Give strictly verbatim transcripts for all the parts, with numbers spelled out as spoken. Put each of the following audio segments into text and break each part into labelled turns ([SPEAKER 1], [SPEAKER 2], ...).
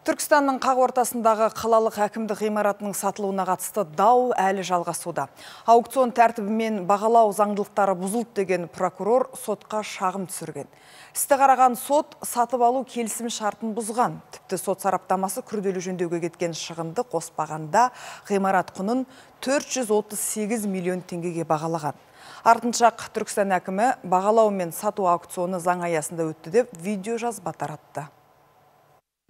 [SPEAKER 1] Түркістанның қақ ортасындағы қалалық әкімдік ғимаратының сатылуына қатысты дау әлі жалғасуда. Аукцион тәртібімен бағалау заңдылықтары бұзылды деген прокурор сотқа шағым түсірген. Істі қараған сот сатып алу келісім шартын бұзған. Тіпті сот сараптамасы күрделі жөндеуге кеткен шығынды қоспағанда ғимарат құнын төрт жүз отыз сегіз миллион теңгеге бағалаған. Артыншақ Түркістан әкімі бағалау мен сату аукционы заң аясында өтті деп видео жазба таратты.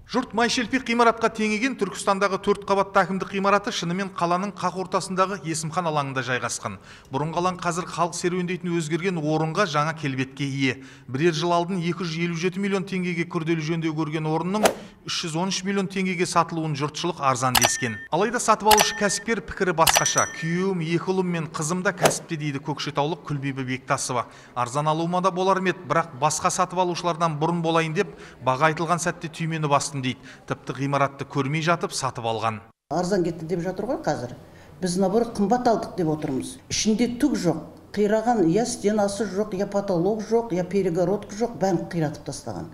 [SPEAKER 2] Жұрт майшелпек ғимаратқа теңеген Түркістандағы төрт қабатты әкімдік ғимараты шынымен қаланың қақ ортасындағы Есімхан алаңында жайғасқан. Бұрын қалаң қазір халық серуендейтін өзгерген орынға жаңа келбетке ие. Бірер жыл алдын екі жүз елу жеті миллион теңгеге күрделі жөндеу көрген орынның үш жүз он үш миллион теңгеге сатылуын жұртшылық арзан дескен. Алайда сатып алушы кәсіпкер пікірі басқаша. Күйеуім, екі ұлым мен қызым да кәсіпте дейді көкшетаулық Күлбибі Бектасова. Арзан алуыма да болар ма еді, бірақ басқа сатып алушылардан бұрын болайын деп баға айтылған сәтте түймені бастым дейді. Тіпті ғимаратты көрмей жатып сатып алған.
[SPEAKER 3] Арзан кетті деп жатыр ғой қазір. Біз наоборот қымбат алдық деп отырмыз. Ішінде түк жоқ. Қираған, я стенасы жоқ, я потолок жоқ, я перегородка жоқ, бәрін қиратып тастаған.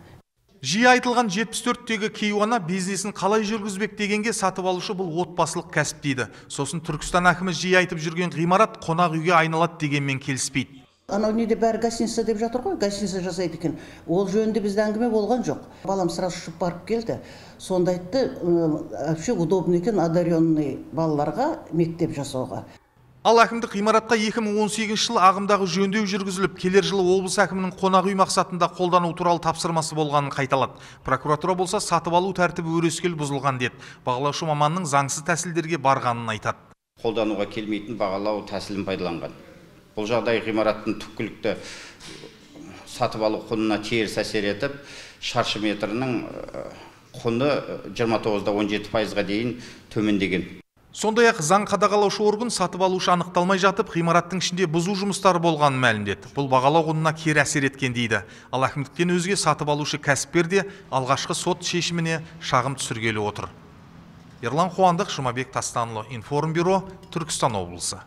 [SPEAKER 2] Жиі айтылған жетпіс төрттегі кейуана бизнесін қалай жүргізбек дегенге сатып алушы бұл отбасылық кәсіп дейді. Сосын Түркістан әкімі жиі айтып жүрген ғимарат қонақ үйге айналады дегенмен келіспейді.
[SPEAKER 3] Анау неде бәрі гостиница деп жатыр ғой, гостиница жасайды екен. Ол жөнінде бізде әңгіме болған жоқ. Балам сразу ұшып барып келді. Сонда айтты, вообще удобно екен одаренный балаларға мектеп жасауға.
[SPEAKER 2] Ал әкімдік ғимаратқа екі мың он сегізінші жылы ағымдағы жөндеу жүргізіліп, келер жылы облыс әкімінің қонақ үй мақсатында қолдану туралы тапсырмасы болғанын қайталады. Прокуратура болса сатып алу тәртібі өрескел бұзылған деді. Бағалаушы маманның заңсыз тәсілдерге барғанын айтады.
[SPEAKER 4] Қолдануға келмейтін бағалау тәсілін пайдаланған. Бұл жағдай ғимараттың түпкілікті сатып алу құнына теріс әсер етіп, шаршы метрінің құны жиырма тоғыз да он жеті пайызға дейін төмендеген.
[SPEAKER 2] Сондай-ақ заң қадағалаушы орган сатып алушы анықталмай жатып, ғимараттың ішінде бұзу жұмыстары болғанын мәлімдеді. Бұл бағалау құнына кері әсер еткен дейді. Ал әкімдіктен өзге сатып алушы кәсіпкер де алғашқы сот шешіміне шағым түсіргелі отыр. Ерлан Қуандық, Жұмабек Тастанұлы, Информбюро, Түркістан облысы.